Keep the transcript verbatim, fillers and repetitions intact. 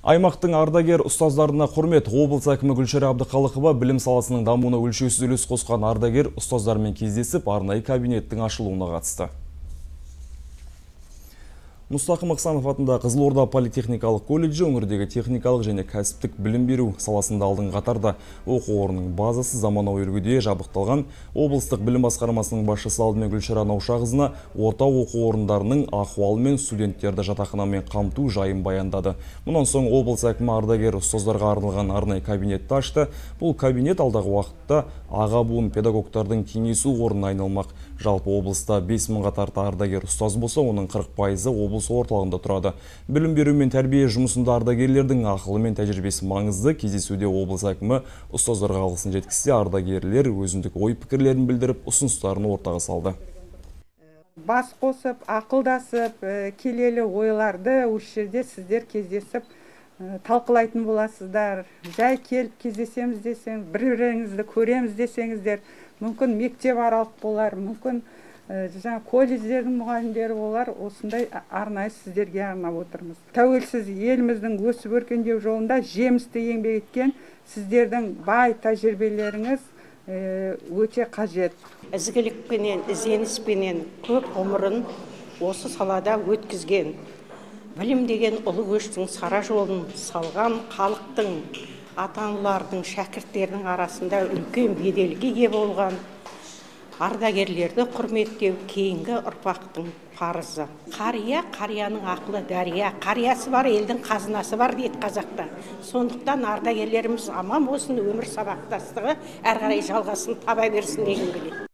Аймақтың ардагер ұстаздарына құрмет. Облыс әкімі Гүлшара Әбдіқалықова білім саласының дамуына өлшеусіз үлес қосқан ардагер ұстаздармен кездесіп, арнайы кабинеттің ашылуына қатысты. Мұстақым Мақсанов атында Қызылорда политехникалық колледжі өңірдегі техникалық және кәсіптік білім беру саласында алдыңғы қатарда. Оқу орнының базасы заманауи үлгіде жабдықталған. Облыстық білім басқармасының басшысы алдымен Гүлшара Наушақызына орта оқу орындарының ахуалы мен студенттерді жатақханамен қамту жайын баяндады. Мұнан соң облыс әкімі ардагер ұстаздарға арналған арнайы кабинетті ашты. Бұл кабинет алдағы уақытта аға буын педагогтардың кеңесу орнына айналмақ. Жалпы облыста бес мыңға тарта ардагер ұстаз болса, оның қырық пайызы облыс орталығында тұрады. Білім беру мен тәрбие жұмысында ардагерлердің ақылы мен тәжірибесі маңызды. Кездесуде облыс әкімі ұстаздарға алғысын жеткізсе, ардагерлер өзіндік ой пікірлерін білдіріп, ұсыныстарын ортаға салды. Бас қосып, ақылдасып, келелі ойларды осы жерде сіздер кездесіп талқылайтын боласыздар. Жай келіп кездесеміз десең, бір-біріңізді көреміз десеңіздер, мүмкін мектеп аралық болар, мүмкін жаңа колледждердің мұғалімдері болар. Осындай арнайы сіздерге арнап отырмыз. Тәуелсіз еліміздің өсіп өркендеу жолында жемісті еңбек еткен сіздердің бай тәжірибелеріңіз өте қажет. Ізгілікпенен, ізденіспенен көп ғұмырын осы салада өткізген. Білім деген ұлы көштің сара жолын салған халықтың, ата-аналардың, шәкірттердің арасында үлкен беделге ие болған ардагерлерді құрметтеу кейінгі ұрпақтың парызы. Қария, қарияның ақылы дәрия, қариясы бар, елдің қазынасы бар дейді қазақта. Сондықтан ардагерлеріміз аман болсын, өмір сабақтастығы әрі қарай жалғасын таба берсін деген келеді.